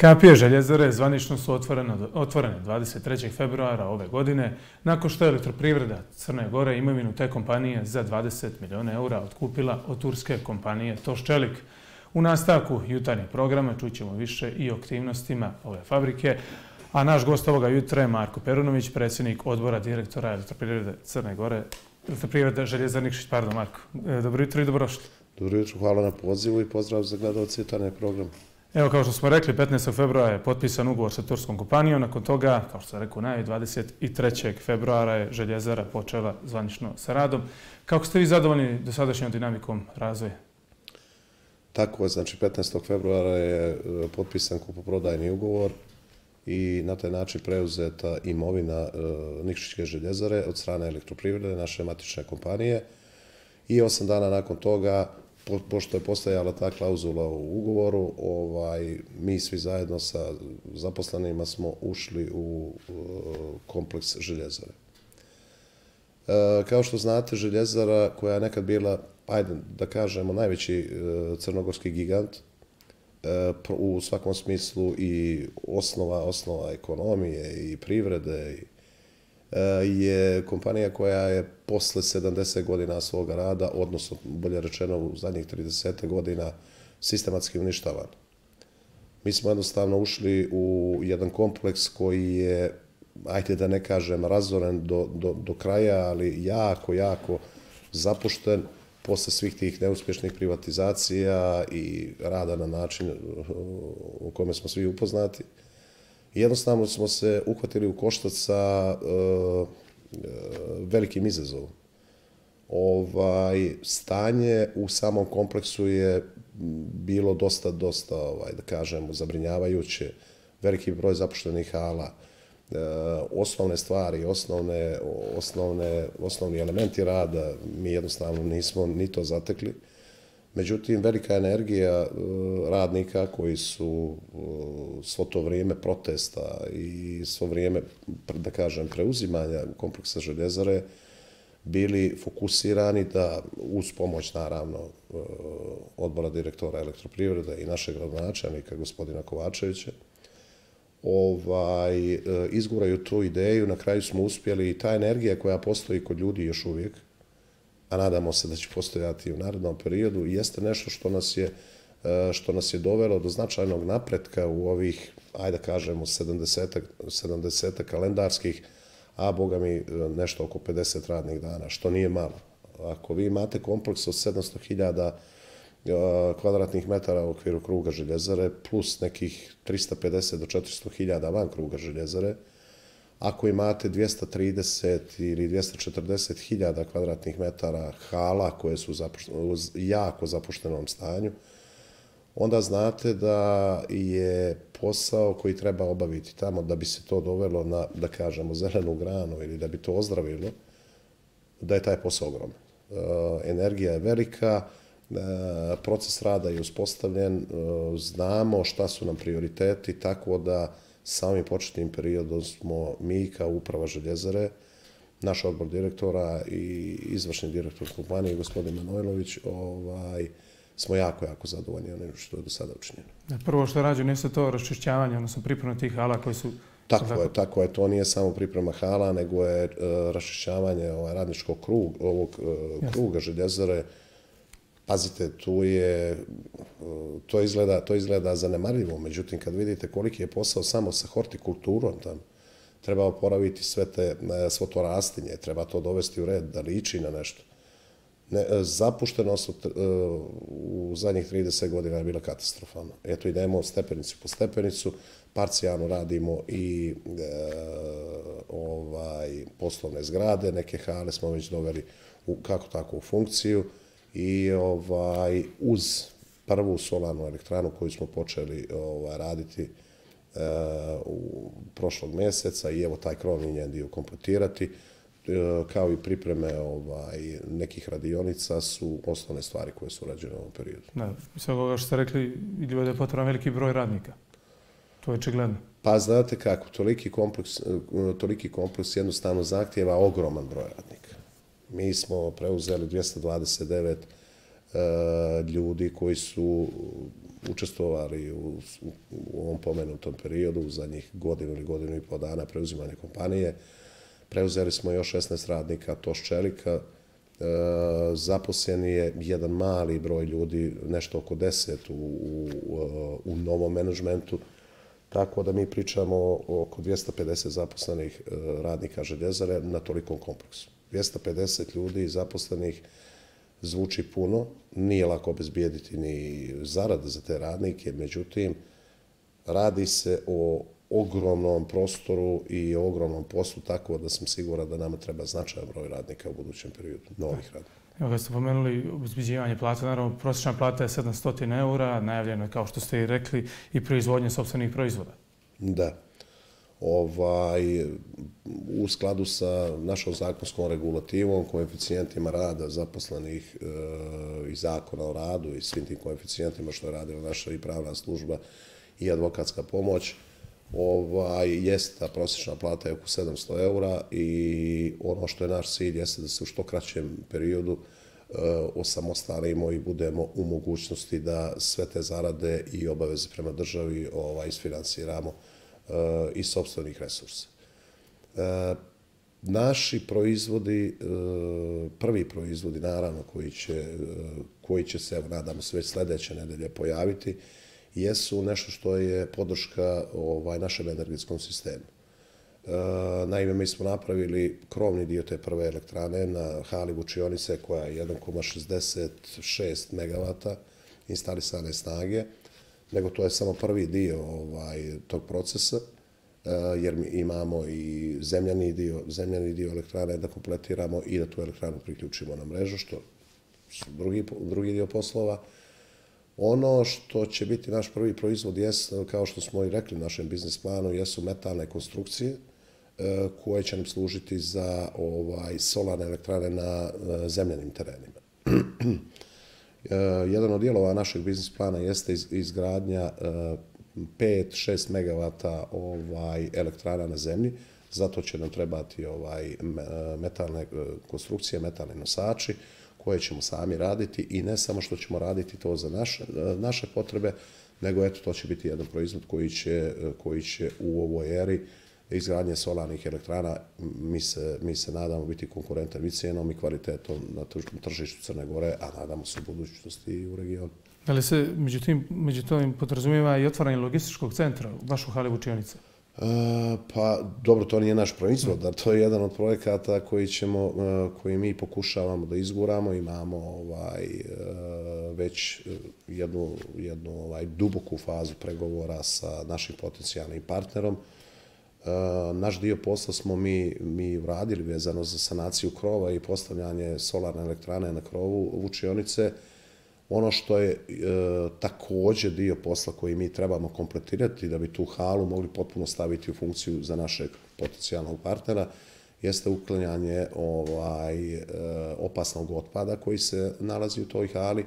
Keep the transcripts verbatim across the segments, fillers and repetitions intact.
Kapije željezare zvanično su otvorene dvadeset trećeg februara ove godine, nakon što je Elektroprivreda Crne Gore imovinu te kompanije za dvadeset miliona eura otkupila od turske kompanije Toščelik. U nastavku jutarnjeg programa čućemo više i o aktivnostima ove fabrike, a naš gost ovoga jutra je Marko Perunović, predsjednik odbora direktora Elektroprivrede Crne Gore, Elektroprivreda Željezar Nikšić. Pardon, Marko. Dobro jutro i dobrodošli. Dobro jutro, hvala na pozivu i pozdrav za gledalce jutarnjeg programa. Evo, kao što smo rekli, petnaestog februara je potpisan ugovor sa turskom kompanijom. Nakon toga, kao što sam rekao, najave dvadeset trećeg februara je željezara počela zvanično sa radom. Kako ste vi zadovoljni dosadašnjom dinamikom razvoja? Tako je, znači petnaestog februara je potpisan kupoprodajni ugovor i na taj način preuzeta imovina Nikšićke željezare od strane Elektroprivrede, naše matične kompanije. I osam dana nakon toga, pošto je postojala ta klauzula u ugovoru, mi svi zajedno sa zaposlenima smo ušli u kompleks željezare. Kao što znate, željezara koja je nekad bila, ajde da kažemo, najveći crnogorski gigant, u svakom smislu i osnova, osnova ekonomije i privrede, je kompanija koja je posle sedamdeset godina svoga rada, odnosno bolje rečeno u zadnjih trideset godina, sistematski uništavana. Mi smo jednostavno ušli u jedan kompleks koji je, ajde da ne kažem, razoren do, do, do kraja, ali jako, jako zapušten posle svih tih neuspješnih privatizacija i rada na način u kome smo svi upoznati. Jednostavno smo se uhvatili u koštac sa uh, velikim izazovom. Ovaj, stanje u samom kompleksu je bilo dosta, dosta, ovaj, da kažemo, zabrinjavajuće. Veliki broj zapuštenih hala, uh, osnovne stvari, osnovne, osnovne, osnovni elementi rada, mi jednostavno nismo ni to zatekli. Međutim, velika energija radnika koji su svo to vrijeme protesta i svo vrijeme, da kažem, preuzimanja kompleksa željezare bili fokusirani da, uz pomoć, naravno, odbora direktora Elektroprivrede i našeg gradonačelnika, gospodina Kovačevića, ovaj, izguraju tu ideju. Na kraju smo uspjeli i ta energija koja postoji kod ljudi još uvijek, a nadamo se da će postojati u narednom periodu, jeste nešto što nas je, što nas je dovelo do značajnog napretka u ovih, ajde da kažemo, sedamdeset kalendarskih, a boga mi nešto oko pedeset radnih dana, što nije malo. Ako vi imate kompleks od sedamsto hiljada kvadratnih metara u okviru kruga željezare, plus nekih trista pedeset do četiristo hiljada van kruga željezare, ako imate dvjesto trideset ili dvjesto četrdeset hiljada kvadratnih metara hala koje su u jako zapuštenom stanju, onda znate da je posao koji treba obaviti tamo da bi se to dovelo na, da kažemo, zelenu granu ili da bi to ozdravilo, da je taj posao ogroman. Energija je velika, proces rada je uspostavljen, znamo šta su nam prioriteti, tako da samim početnim periodom smo mi kao uprava željezare, naš odbor direktora i izvršni direktor kompanije, gospodin Manojlović, ovaj, smo jako, jako zadovoljni onim što je do sada učinjeno. Prvo što je rađeno jeste to raščišćavanje, odnosno priprema tih hala koji su... Tako je, tako je. To nije samo priprema hala, nego je raščišćavanje radničkog kruga, ovog kruga željezare. Pazite, tu je, to izgleda, to izgleda zanemarljivo, međutim, kad vidite koliki je posao samo sa hortikulturom tam, treba oporaviti sve, te, svo to rastinje, treba to dovesti u red, da liči na nešto. Ne, zapuštenost u zadnjih trideset godina je bila katastrofalna. Eto, idemo stepenicu po stepenicu, parcijalno radimo i e, ovaj, poslovne zgrade, neke hale smo već doveli u, kako tako u funkciju, i ovaj, uz prvu solarnu elektranu koju smo počeli ovaj, raditi e, u prošlog mjeseca i evo taj krovni njen dio kompletirati, e, kao i pripreme ovaj, nekih radionica su osnovne stvari koje su urađene u ovom periodu. Da, iz ovoga što ste rekli, vidljivo da je potreban veliki broj radnika. To je očigledno. Pa znate kako, toliki kompleks, toliki kompleks jednostavno zahtijeva ogroman broj radnika. Mi smo preuzeli dvjesto dvadeset devet ljudi koji su učestvovali u, u ovom pomenutom periodu, u zadnjih godinu ili godinu i pol dana preuzimanja kompanije. Preuzeli smo još šesnaest radnika Toš Čelika. E, zaposlen je jedan mali broj ljudi, nešto oko deset u, u, u novom menadžmentu. Tako da mi pričamo o oko dvjesto pedeset zaposlenih radnika željezare na tolikom kompleksu. dvjesto pedeset ljudi zaposlenih zvuči puno, nije lako obezbijediti ni zarade za te radnike, međutim, radi se o ogromnom prostoru i o ogromnom poslu, tako da sam siguran da nama treba značajan broj radnika u budućem periodu, novih radnika. Evo ga ste pomenuli obezbeđivanje plata, naravno prosječna plata je sedamsto eura, najavljeno je, kao što ste i rekli, i proizvodnje sopstvenih proizvoda. Da. Ovaj, u skladu sa našom zakonskom regulativom, koeficijentima rada zaposlenih e, i zakona o radu i svim tim koeficijentima što je radila naša i pravna služba i advokatska pomoć, ovaj, jest ta prosječna plata je oko sedamsto eura i ono što je naš cilj jeste da se u što kraćem periodu e, osamostalimo i budemo u mogućnosti da sve te zarade i obaveze prema državi ovaj, isfinansiramo iz sopstvenih resursa. E, naši proizvodi, e, prvi proizvodi, naravno, koji će, koji će se, evo, nadamo se, već sljedeće nedelje pojaviti, jesu nešto što je podrška ovaj, našem energetskom sistemu. E, naime, mi smo napravili krovni dio te prve elektrane na hali Vučionice koja je jedan zarez šezdeset šest megavata instalisane snage, nego to je samo prvi dio ovaj, tog procesa, jer mi imamo i zemljani dio, zemljani dio elektrane da kompletiramo i da tu elektranu priključimo na mrežu, što su drugi, drugi dio poslova. Ono što će biti naš prvi proizvod, jest, kao što smo i rekli u našem biznis planu, jesu metalne konstrukcije koje će nam služiti za ovaj, solarne elektrane na zemljanim terenima. Jedan od dijelova našeg biznis plana jeste izgradnja pet do šest megavata ovaj, elektrana na zemlji. Zato će nam trebati ovaj, metalne konstrukcije, metalni nosači koje ćemo sami raditi i ne samo što ćemo raditi to za naše, naše potrebe, nego eto, to će biti jedan proizvod koji će, koji će u ovoj eri izgradnje solarnih elektrana, mi se, mi se nadamo biti konkurentan i cijenom i kvalitetom na tržištu Crne Gore, a nadamo se u budućnosti i u regionu. Da li se međutim, među tim podrazumijeva i otvaranje logističkog centra u vašu hali Vučionice? E, pa, dobro, to nije naš proizvod, da to je jedan od projekata koji, ćemo, koji mi pokušavamo da izguramo. Imamo ovaj, već jednu, jednu ovaj, duboku fazu pregovora sa našim potencijalnim partnerom. Naš dio posla smo mi, mi uradili vezano za sanaciju krova i postavljanje solarne elektrane na krovu Vučionice. Ono što je e, također dio posla koji mi trebamo kompletirati da bi tu halu mogli potpuno staviti u funkciju za našeg potencijalnog partnera, jeste uklanjanje ovaj, e, opasnog otpada koji se nalazi u toj hali.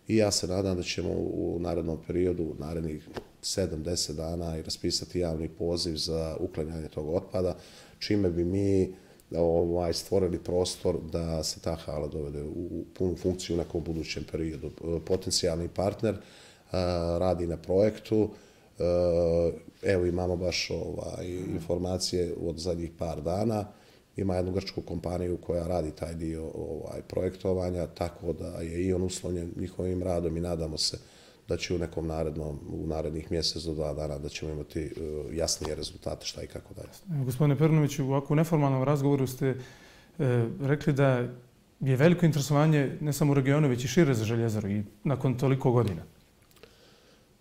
I ja se nadam da ćemo u narednom periodu, u narednih sedam do deset dana i raspisati javni poziv za uklanjanje tog otpada, čime bi mi ovaj, stvorili prostor da se ta hala dovede u punu funkciju u nekom budućem periodu. Potencijalni partner a, radi na projektu. A, evo imamo baš ovaj, informacije od zadnjih par dana. Ima jednu grčku kompaniju koja radi taj dio ovaj, projektovanja, tako da je i on uslovljen njihovim radom i nadamo se da će u nekom narednom, u narednih mjesec do dva dana da ćemo imati uh, jasnije rezultate šta i kako dalje. Gospodine Perunoviću, u ovako neformalnom razgovoru ste e, rekli da je veliko interesovanje ne samo u regionu, već i šire za željezaru i nakon toliko godina.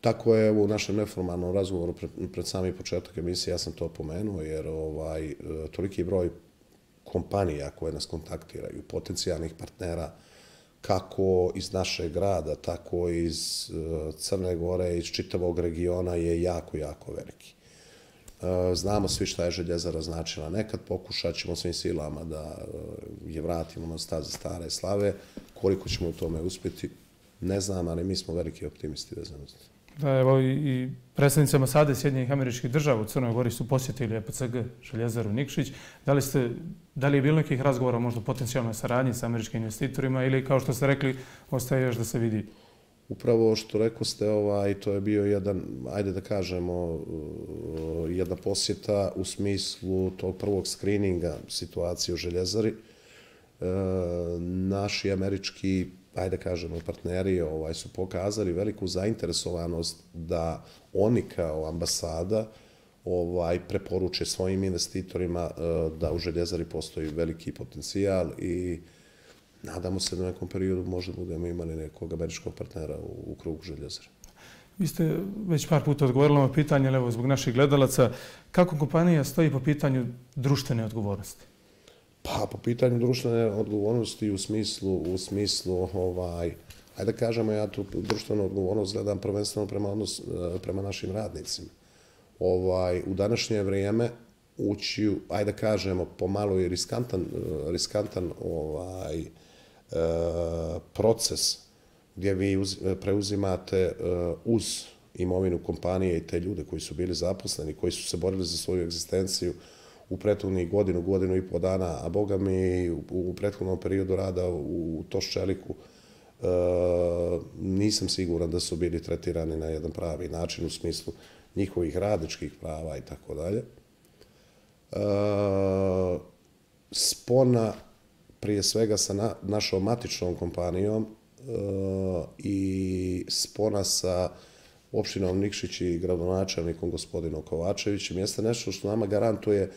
Tako je, u našem neformalnom razgovoru pred, pred sami početak emisije ja sam to pomenuo, jer ovaj, toliki broj kompanija koje nas kontaktiraju, potencijalnih partnera, kako iz našeg grada, tako iz Crne Gore, iz čitavog regiona je jako, jako veliki. Znamo svi šta je željezara značila nekad, pokušat ćemo svim silama da je vratimo na staze stare slave. Koliko ćemo u tome uspjeti, ne znam, ali mi smo veliki optimisti vezano za to. Da, evo i predstavnici ambasade Sjedinjenih Američkih Država u Crnoj Gori su posjetili E P C G Željezaru Nikšić. Da li, ste, da li je bilo nekih razgovora možda o potencijalnoj saradnji sa američkim investitorima ili, kao što ste rekli, ostaje još da se vidi? Upravo što rekao ste, ovaj, to je bio jedan, ajde da kažemo, jedna posjeta u smislu tog prvog skrininga situacije u Željezari. Naši američki, ajde da kažemo, partneri ovaj, su pokazali veliku zainteresovanost da oni kao ambasada ovaj, preporuče svojim investitorima da u Željezari postoji veliki potencijal i nadamo se da u nekom periodu možda budemo imali nekog američkog partnera u, u krugu Željezare. Vi ste već par puta odgovorili na ovo pitanje, ali evo zbog naših gledalaca, kako kompanija stoji po pitanju društvene odgovornosti? Pa po pitanju društvene odgovornosti u smislu, u smislu ovaj, ajde da kažemo, ja tu društvenu odgovornost gledam prvenstveno prema, odnos, prema našim radnicima. Ovaj, u današnje vrijeme ući u, ajde da kažemo, pomalo i riskantan, riskantan ovaj, proces gdje vi preuzimate uz imovinu kompanije i te ljude koji su bili zaposleni, koji su se borili za svoju egzistenciju u prethodnih godinu, godinu i po dana, a boga mi u prethodnom periodu rada u Toščeliku nisam siguran da su bili tretirani na jedan pravi način u smislu njihovih radničkih prava i tako dalje. Spona prije svega sa našom matičnom kompanijom i spona sa opštinom Nikšić i gradonačelnikom gospodinom Kovačevićem jeste nešto što nama garantuje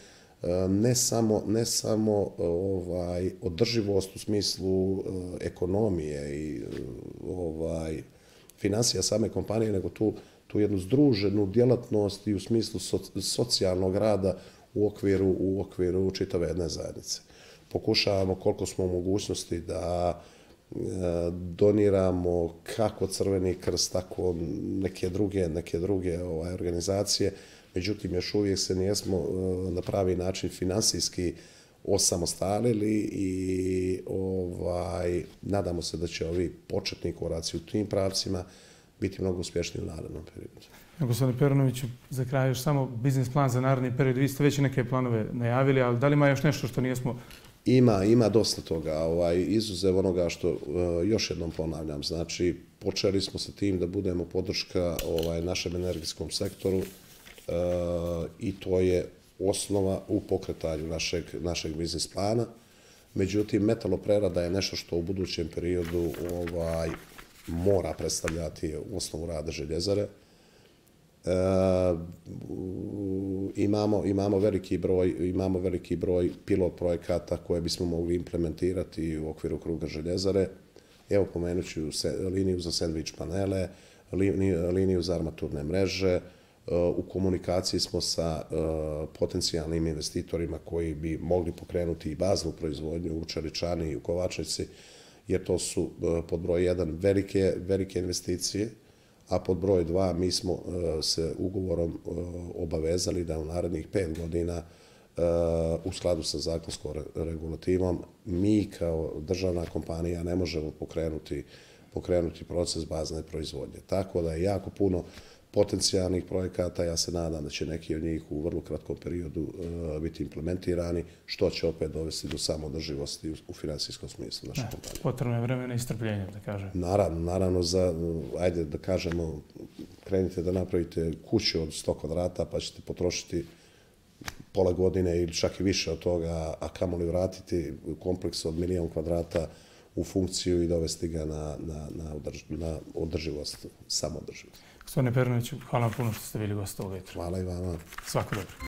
ne samo, ne samo ovaj, održivost u smislu ekonomije i ovaj, financija same kompanije, nego tu, tu jednu združenu djelatnost i u smislu so, socijalnog rada u okviru, u okviru čitave jedne zajednice. Pokušavamo koliko smo u mogućnosti da doniramo kako Crveni krst, tako neke druge, neke druge ovaj, organizacije. Međutim, još uvijek se nijesmo na pravi način finansijski osamostalili i ovaj, nadamo se da će ovi početni koraci u tim pravcima biti mnogo uspješniji u narednom periodu. Gospodine Perunoviću, za kraj još samo biznis plan za naredni period. Vi ste već neke planove najavili, ali da li ima još nešto što nijesmo... Ima, ima dosta toga, ovaj, izuzev onoga što uh, još jednom ponavljam. Znači, počeli smo sa tim da budemo podrška ovaj, našem energetskom sektoru uh, i to je osnova u pokretanju našeg, našeg biznis plana. Međutim, metaloprerada je nešto što u budućem periodu ovaj, mora predstavljati osnovu rada Željezare. E, imamo, imamo, veliki broj, imamo veliki broj pilot projekata koje bismo mogli implementirati u okviru kruga Željezare. Evo pomenut ću se, liniju za sendvič panele, liniju, liniju za armaturne mreže. E, u komunikaciji smo sa e, potencijalnim investitorima koji bi mogli pokrenuti i baznu proizvodnju u Čeličani i u Kovačnici, jer to su e, pod broj jedan velike, velike investicije. A pod broj dva mi smo uh, se ugovorom uh, obavezali da u narednih pet godina uh, u skladu sa zakonskom regulativom mi kao državna kompanija ne možemo pokrenuti, pokrenuti proces bazne proizvodnje. Tako da je jako puno potencijalnih projekata, ja se nadam da će neki od njih u vrlo kratkom periodu uh, biti implementirani, što će opet dovesti do samodrživosti u, u finansijskom smislu naše kompanije. Potrebno je vremena i strpljenja, da kažem. Naravno, naravno, za, ajde da kažemo, krenite da napravite kuću od sto kvadrata pa ćete potrošiti pola godine ili čak i više od toga, a kamoli vratiti kompleks od milijon kvadrata u funkciju i dovesti ga na, na, na, održ, na održivost, samodrživost. Gospodine Perunoviću, hvala vam puno što ste bili gost ovog vetra. Hvala i vama. Svako dobro.